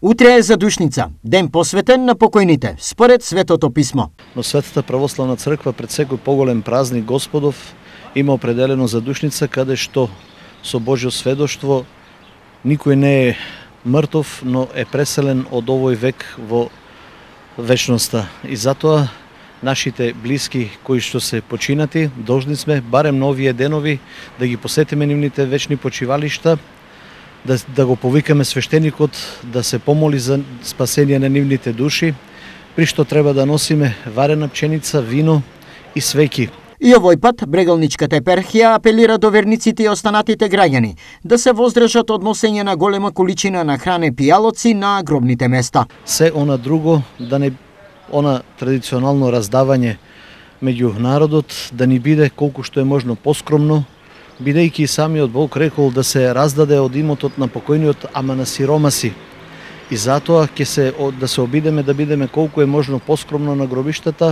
Утре е задушница, ден посветен на покојните, според Светото писмо. Но Светата православна црква пред секој поголем празник Господов има определено задушница каде што со Божјо сведоштво никој не е мртов, но е преселен од овој век во вечноста. И затоа нашите блиски кои што се починати, должни сме барем на овие денови да ги посетиме нивните вечни почивалишта, да го повикаме свештеникот да се помоли за спасение на нивните души, при што треба да носиме варена пченица, вино и свеќи. И овој пат Брегалничката епархија апелира до верниците и останатите граѓани да се воздржат од носење на голема количина на хране пијалоци на гробните места. Се она друго, да не она традиционално раздавање меѓу народот да ни биде колку што е можно поскромно, бидејќи самиот Бог рекол да се раздаде од имотот на покојниот, ама на сиромаси. И затоа ќе се да се обидеме да бидеме колку е можно поскромно на гробиштата.